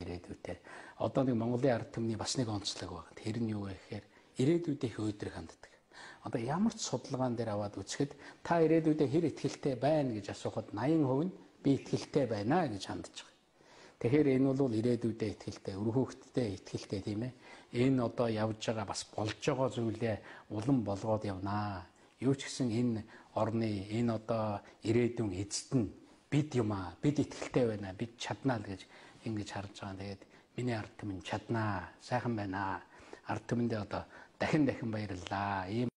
ирээдүйтэй. Одоо нэг Монголын ард түмний бас нэг онцлог байна. Тэр нь юу вэ гэхээр ирээдүйдээ их өөдрөг ханддаг. Одоо ямар ч судалгаан дээр аваад үзэхэд та ирээдүйдээ хэр итгэлтэй байна гэж асуухад 80% нь би итгэлтэй байна гэж хандж байгаа. Тэгэхээр энэ бол ирээдүйдээ итгэлтэй, өр хүүхэдтэй итгэлтэй тийм ээ. Энэ одоо явж байгаа бас болж байгаа зүйлээ улам болгоод явнаа. Юу ч гэсэн энэ орны энэ одоо ирээдүйн эзэд нь бид юм аа, бид итгэлтэй байна, бид чаднаа л гэж ингэж харж байгаа. Тэгээд миний ард түмэн чаднаа, сайхан байна. Ард түмэндээ одоо дахин баярлалаа.